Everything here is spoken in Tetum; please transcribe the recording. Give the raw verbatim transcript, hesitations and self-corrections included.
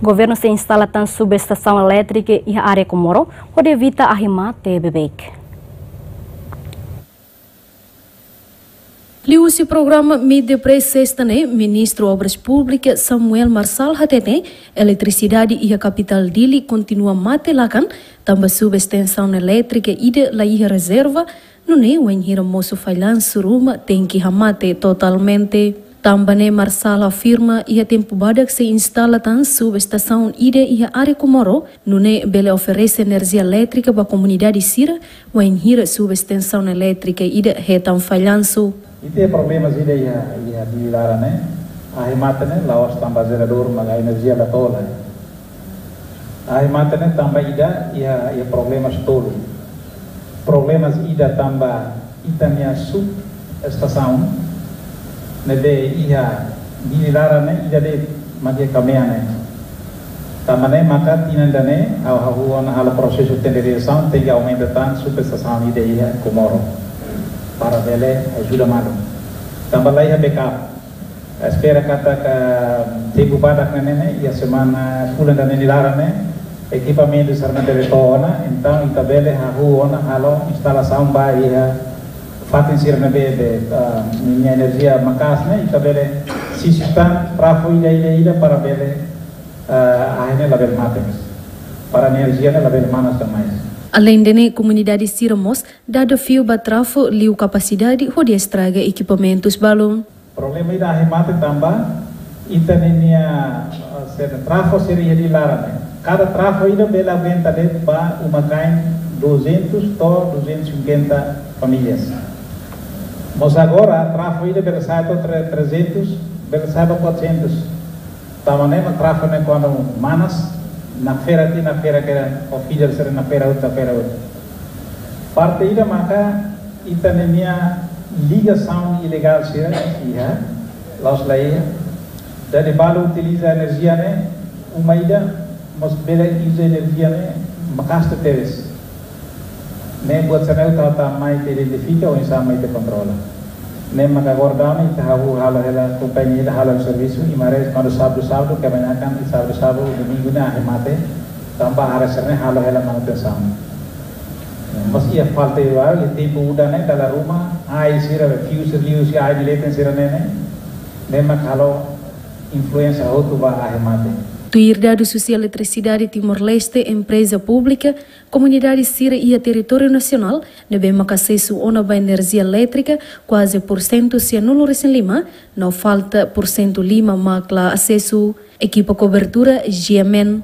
Governu sei instala tan subestasaun elétrika iha área Comoro, hodi evita ahi mate beibeik. Liuhusi programa Meet the Press sesta ne'e, Ministru Obras Públikas Samuel Marçal hateten, eletrisidade iha kapitál Dili kontinua mate lakan, tanba subestasaun elétrika ida la iha rezerva, nune'e wainhira mosu fallansu ruma tenke hamate totalmente. Tanba ne'e Marçal afirma iha tempu badak sei instala tan subestasaun ida iha área Comoro, nune'e bele oferese enerjia elétrika ba komunidade sira, wainhira subestasaun elétrika ida hetan fallansu. Ita iha problemas ida iha, iha Dili laran ne'e, ahi mate ne'e, la'ós tanba jeradór, maka enerjia la to'o lai. Ahi mate ne'e tanba ida iha, iha problemas tolu. Problemas ida tanba ita-nia subestasaun ne'ebé iha Dili laran ne'e, ida de'it mak iha Camean ne'e. Tanba ne'e maka tinan ida-ne'e, ha'u hahú ona halo prosesu tenderizasaun, tenke aumenta tan subestasaun ida iha Comoro, para bele ajuda malu. Tanba la iha backup. Espera katak tempu badak ne'e, ne'e, iha semana, fulan ida-ne'e nia laran ne'e, ekipamentu sira-ne'e bele to'o ona, entaun ita bele hahú ona halo instalasaun ba iha fatin sira ne'ebé, be, ah, ninia enerjia maka'as ne'e, ita bele sisip tan trafo ida, ida, ida para bele, ah, ahi ne'e labele mate, para enerjia ne'e labele manas tan mais. Aleinde ne'e, komunidade sira mós dada fiu ba trafo liu kapasidade hodi estraga ekipamentus balun. Problema ida ahi mate tanba ita ninia, ah, sira trafo sira iha Dili laran ne'e. Kada trafo ida bele aguenta de'it ba uma-kain duzentos to'o duzentos e cinquenta famílias. Mas agora trafo ida bele sa'e to'o tre-, trezentos, bele sa'e ba quatrocentos. Tanba ne'e mak trafo ne'e kuandu manas, nakfera tiha, nakfera kera, o feeder sira nakfera hotu, nakfera hotu. Parte ida maka ita ninia ligasaun ilegál sira iha, la'ós la iha. Dadi balu utiliza enerjia ne'e, uma ida, mas bele uza enerjia ne'e maka'as tebes. Ne'e buat sira-ne'e ita atu mai ita identifika, oinsá mai ita kontrola. Ne'e maka agora daudaun ne'e ita hahú halo hela, kompañia ida halo servisu, i mares kuandu sábadu, sábadu, kebanyakan iha sábadu, sábadu, domingu ne'e ahi mate, tanba área sira-ne'e halo hela manutensaun. Mas iha falta iha, iha tempu udan ne'e dala ruma, ai sira, fiu sira liu, sira ai bileten sira ne'e, ne'e, ne'e mak halo influénsia hotu ba ahi mate. Tuir dadus husi Eletrisidade Timor-Leste, empreza públika, komunidade sira iha territóriu nasionál ne'ebé maka asesu ona ba enerjia elétrika kuaze pursentu sianulu resin lima, no falta pursentu lima mak la asesu. Ekipa kobertura, G M N.